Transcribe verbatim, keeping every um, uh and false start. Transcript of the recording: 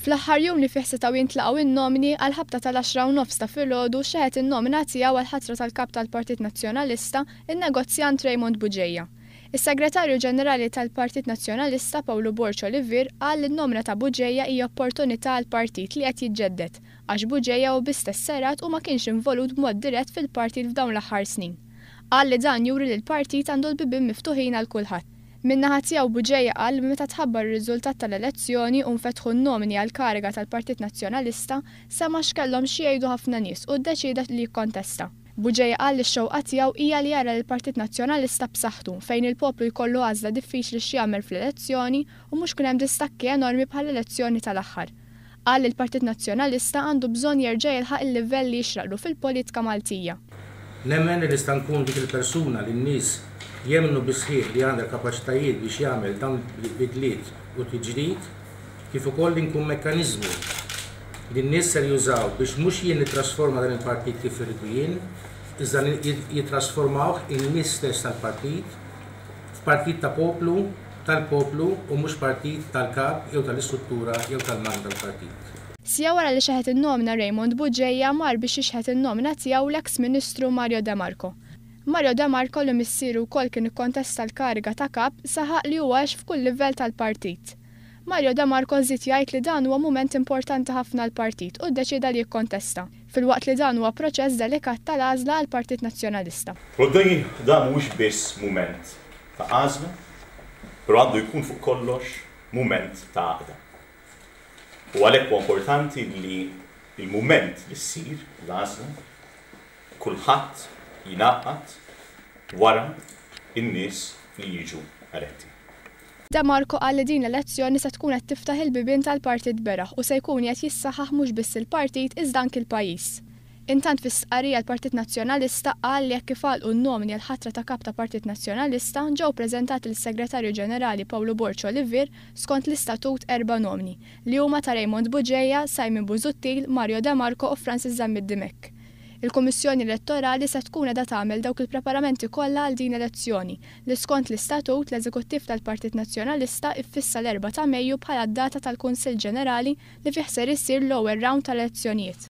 Fl-aħħar jum li fih setgħu jintlaqgħu in-nomini, għal-ħabta tal-għaxra u nofs ta' filgħodu, xeħet in-nomina tiegħu għal-ħatra tal-kap tal-Partit Nazzjonalista, in-negozjant Raymond Bugeja. Is-Segretarju Ġenerali tal-Partit Nazzjonalista Pawlu Borg Olivier qal li n-nomina ta' Bugeja hija opportunità għall-partit li qed jiġġedded, għax Bugeja hu biss tesserat u ma kienx involut b'mod dirett fil-partit f'dawn l-aħħar snin. Qal li dan juri li l-partit għandu l-bibien miftuħin għal kulħadd. Min-naħa tiegħu, Bugeja qal li meta tħabbar ir-riżultat tal-elezzjoni u nfetħu n-nomini għal kariga tal-Partit Nazzjonalista, sema' x'kellhom xi jgħidu ħafna nies u ddeċida li jikkontesta. Bugeja qal li x-xewqa tiegħu hija li jara l-Partit Nazzjonalista b'saħħtu, fejn il-poplu jkollu għażla diffiċli x'jagħmel fl-elezzjoni u mhux kun hemm distakki enormi bħall-elezzjoni tal-aħħar. Qal li l-Partit Nazzjonalista għandu bżonn jerġa' jilħaq il-livell li jixraqlu fil-politika Maltija. Nemmen li nista' nkun dik il-persuna li n-nies jemnu bis-sħiħ li għandha l-kapaċitajiet biex jagħmel dawn il-bidliet u tiġdid, kif ukoll li nkun mekkaniżmu li n-nies ser jużaw biex mhux jien nittrasforma dan il-partit kif irridu jien, iżda jittrasformawh in-nies stess tal-partit f'partit ta' poplu, tal-poplu, u mhux partit tal-kap jew tal-istruttura jew tal-magna tal-partit. Siegħa wara li xeħet in-nomina Raymond Bugeja, mar biex jixħet in-nomina tiegħu l-eks Ministru Mario De Marco. Mario De Marco, li missieru wkoll kien ikkontesta l-kariga ta' kap, saħaq li huwa għex f'kull livell tal-partit. Mario De Marco żied jgħid li dan huwa mument importanti ħafna l-partit u ddeċida li jikkontesta, filwaqt li dan huwa proċess delikat tal-għażla għal Partit Nazzjonalista. Però dan mhuwiex biss mument ta' għażla, però għandu jkun fuq kollox mument ta' għaqda. U għalhekk huwa importanti li il-mument li ssir l-għażla, kulħadd jingħaqad wara in-nies li jiġu eletti. De Marco qal li din l-elezzjoni se tkun qed tiftaħ il-bibien tal-partit beraħ u se jkun qed jissaħħaħ mhux biss il-partit, iżda anki l-pajjiż. Intant, fi stqarrija, l-Partit Nazzjonalista qal li jekk kif għalqu n-nomini għal-ħatra ta' kap ta' Partit Nazzjonalista, ġew preżentati lis-Segretarju Ġenerali Pawlu Borg Olivier, skont l-istatut, erba' nomini, li huma ta' Raymond Bugeja, Simon Busuttil, Mario De Marco u Francis Zammit Dimech. Il-Kummissjoni Elettorali se tkun qiegħda tagħmel dawk il-preparamenti kollha għal din elezzjoni li, skont l-istatut, l-Eżekuttiv tal-Partit Nazzjonalista iffissa l-erbgħa ta' Mejju bħala d-data tal-Kunsill Ġenerali li fih ser isir l-ewwel round tal-elezzjonijiet.